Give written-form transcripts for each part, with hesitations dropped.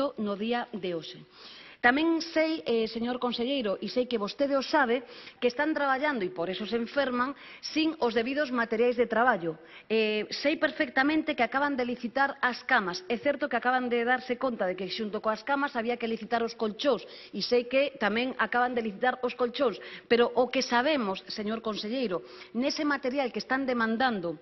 isto no día de hoxe. Tamén sei, señor conselleiro, e sei que vostede o sabe, que están traballando, e por eso se enferman, sin os debidos materiais de traballo. Sei perfectamente que acaban de licitar as camas. É certo que acaban de darse conta de que xunto coas camas había que licitar os colchóns, e sei que tamén acaban de licitar os colchóns. Pero o que sabemos, señor conselleiro, nese material que están demandando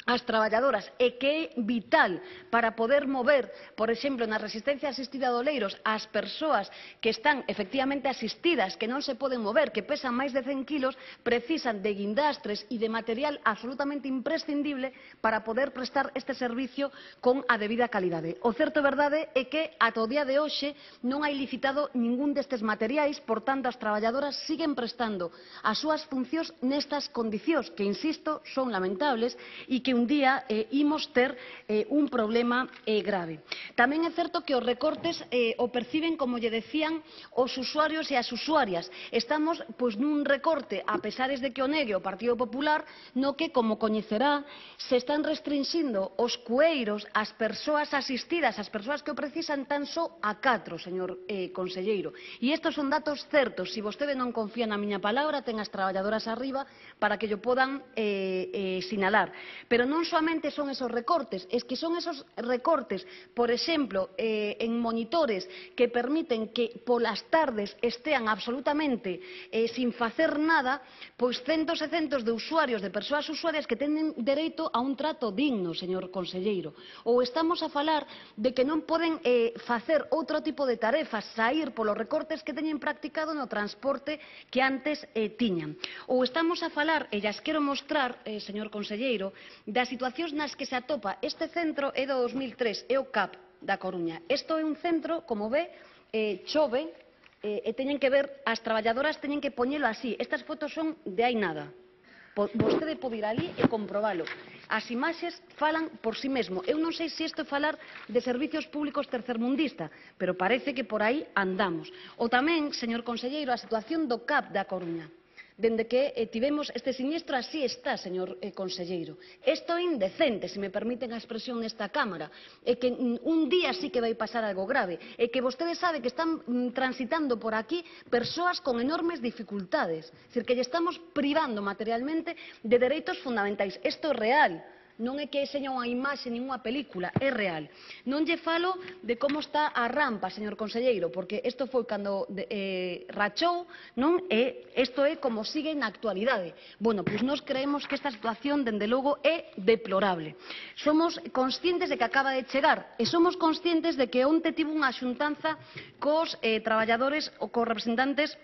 as traballadoras e que é vital para poder mover, por exemplo, na resistencia asistida de Oleiros, as persoas que están efectivamente asistidas, que non se poden mover, que pesan máis de 100 kilos, precisan de guindastres e de material absolutamente imprescindible para poder prestar este servicio con a debida calidade. O certo e verdade é que ata o día de hoxe non hai licitado ningún destes materiais, por tanto as traballadoras siguen prestando as súas funcións nestas condicións que, insisto, son lamentables e que un día imos ter un problema grave. Tamén é certo que os recortes o perciben, como lle decían, os usuarios e as usuarias. Estamos nun recorte, a pesares de que o negue o Partido Popular, no que, como coñecerá, se están restringindo os cueiros, as persoas asistidas, as persoas que o precisan, tan só a 4, señor conselleiro. E estes son datos certos. Se vostede non confía na miña palabra, ten as traballadoras arriba para que llo podan sinalar. Pero non soamente son esos recortes, es que son esos recortes, por exemplo, en monitores que permiten que polas tardes estean absolutamente sin facer nada, pois centos e centos de usuarios, de persoas usuarias que teñen dereito a un trato digno, señor conselleiro. Ou estamos a falar de que non poden facer outro tipo de tarefas, saír polos recortes que teñen practicado no transporte que antes tiñan. Ou estamos a falar, e llas quero mostrar, señor conselleiro, das situacións nas que se atopa este centro é do 2003, é o CAP da Coruña. Isto é un centro, como ve, chove e teñen que ver, as traballadoras teñen que poñelo así. Estas fotos son de hai nada. Vostede pode ir ali e comprobalo. As imaxes falan por si mesmo. Eu non sei se isto é falar de servicios públicos tercermundista, pero parece que por aí andamos. Ou tamén, señor conselleiro, a situación do CAP da Coruña. Dende que tivemos este siniestro, así está, señor conselleiro. Isto é indecente, se me permiten a expresión nesta Cámara. É que un día sí que vai pasar algo grave. É que vostede sabe que están transitando por aquí persoas con enormes dificultades. É dicir, que lle estamos privando materialmente de dereitos fundamentais. Isto é real. Non é que seña unha imaxe nin unha película, é real. Non lle falo de como está a rampa, señor conselleiro, porque isto foi cando rachou, non? E isto é como sigue na actualidade. Bueno, pois nós creemos que esta situación, dende logo, é deplorable. Somos conscientes de que acaba de chegar e somos conscientes de que onte tivo unha xuntanza cos traballadores ou cos representantes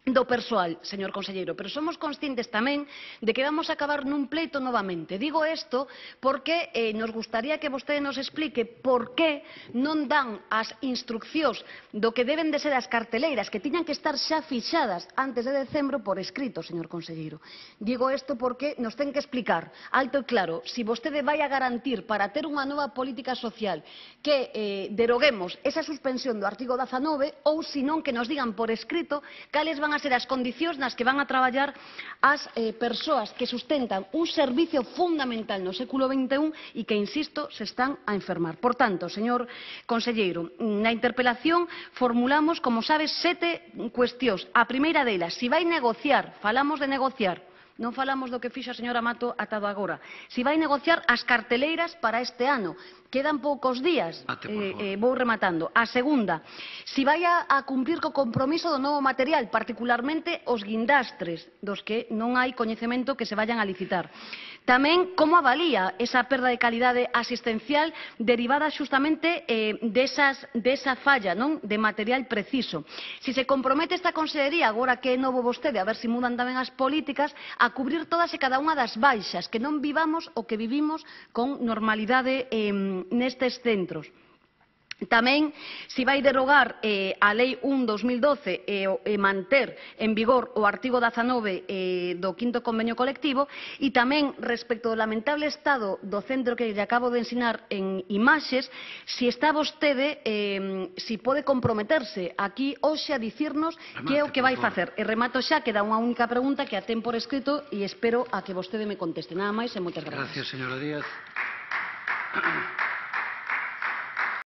do persoal, señor conselleiro, pero somos conscientes tamén de que vamos a acabar nun pleito novamente. Digo isto porque nos gustaría que vostede nos explique por que non dan as instruccións do que deben de ser as carteleiras, que tiñan que estar xa fixadas antes de decembro por escrito, señor conselleiro. Digo isto porque nos ten que explicar alto e claro se vostede vai a garantir para ter unha nova política social que deroguemos esa suspensión do artigo 19 ou senón que nos digan por escrito cales van a ser as condicións nas que van a traballar as persoas que sustentan un servicio fundamental no século XXI e que, insisto, se están a enfermar. Por tanto, señor conselleiro, na interpelación formulamos, como sabes, 7 cuestións. A primeira delas, se vai negociar, falamos de negociar, non falamos do que fixo a señora Mato atado agora. Se vai negociar as carteleiras para este ano. Quedan poucos días. Vou rematando. A segunda, se vai a cumprir co compromiso do novo material, particularmente os guindastres, dos que non hai coñecemento que se vayan a licitar. Tamén, como avalía esa perda de calidade asistencial derivada xustamente desa falla, non, de material preciso. Se se compromete esta consellería, agora que é novo vostede, a ver se mudan tamén as políticas, a cubrir todas e cada unha das baixas, que non vivamos o que vivimos con normalidade nestes centros. Tamén se vai derogar a Lei 1/2012 e manter en vigor o artigo 19 do 5º convenio colectivo e tamén respecto ao lamentable estado do centro que lle acabo de ensinar en imaxes, se está vostede, se pode comprometerse aquí hoxe a dicirnos que é o que vai facer. E remato xa, queda unha única pregunta que a ten por escrito e espero a que vostede me conteste. Nada máis e moitas grazas. Gracias, señora Díaz.